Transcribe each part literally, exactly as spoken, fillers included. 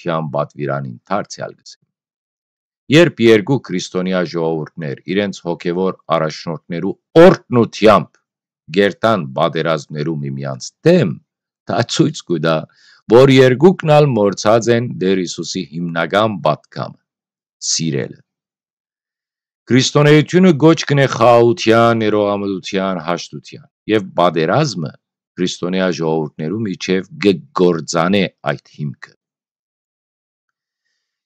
Քրիստոնեայութեան պատուիրանին դարձեալ կ'ըսեմ։ Երբ երկու քրիստոնեայ ժողովուրդներ իրենց հոգեւոր առաջնորդներու օրհնութեամբ կերտան պատերազմներու միմեանց դէմ, դա ցոյց կու տայ, որ երկուքն ալ մոռցած են Տէր Յիսուսի հիմնական պատգամը՝ սիրելը։ Քրիստոնէութիւնը կոչ կ'ընէ խաղաղութեան, ներողամտութեան, հաշտութեան, եւ պատերազմը քրիստոնեայ ժողովուրդներու միջեւ կը կործանէ այդ հիմքը։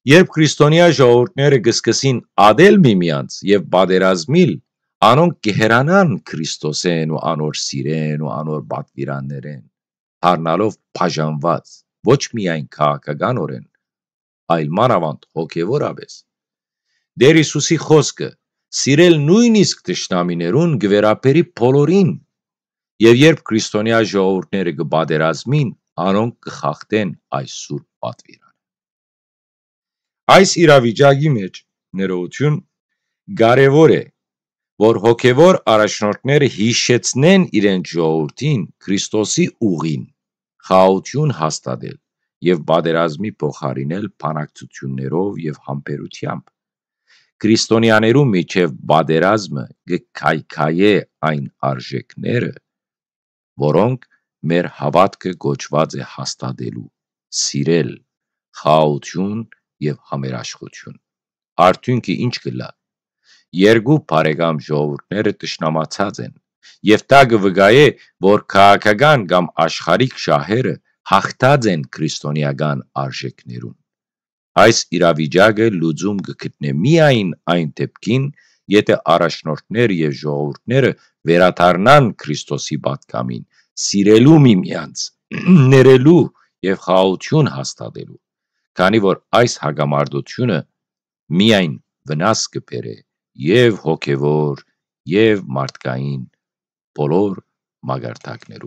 Երբ քրիստոնեայ ժողովուրդները կը սկսին ատել միմեանց եւ պատերազմիլ, անոնք կը հեռանան Քրիստոսէն ու անոր սիրէն ու անոր պատուիրաններէն, դառնալով բաժանուած ոչ միայն քաղաքականօրէն, այլ մանաւանդ հոգեւորապէս։ Տէր Յիսուսի խօսքը՝ սիրել նոյնիսկ թշնամիներուն, կը վերաբերի բոլորին, եւ երբ քրիստոնեայ ժողովուրդները կը պատերազմին, անոնք կը խախտեն այս սուրբ պատուիրանը։ Այս իրավիճակի մէջ, ներողութիւն, կարեւոր է, որ հոգեւոր առաջնորդները յիշեցնեն իրենց ժողովուրդին Քրիստոսի ուղին՝ խաղաղութիւն հաստատել եւ պատերազմի փոխարինել բանակցութիւններով եւ համբերութեամբ։ Քրիստոնեաներու միջեւ պատերազմը կը քայքայէ այն արժէքները, որոնք մեր հաւատքը կոչուած է հաստատելու՝ սիրել, խաղաղութիւն եւ համերաշխութիւն։ Արդիւնքը ի՞նչ կ'ըլլայ։ Երկու բարեկամ ժողովուրդները թշնամացած են, եւ դա կը վկայէ, որ քաղաքական կամ աշխարհիկ շահերը յաղթած են քրիստոնեական արժէքներուն։ Այս իրավիճակը լուծում կը գտնէ միայն այն դէպքին, եթէ առաջնորդներ եւ ժողովուրդները վերադառնան Քրիստոսի պատգամին՝ սիրելու միմեանց, ներելու եւ խաղաղութիւն հաստատելու, քանի որ այս հակամարտութիւնը միայն վնաս կը բերէ եւ հոգեւոր, եւ մարդկային բոլոր մակարդակներուն։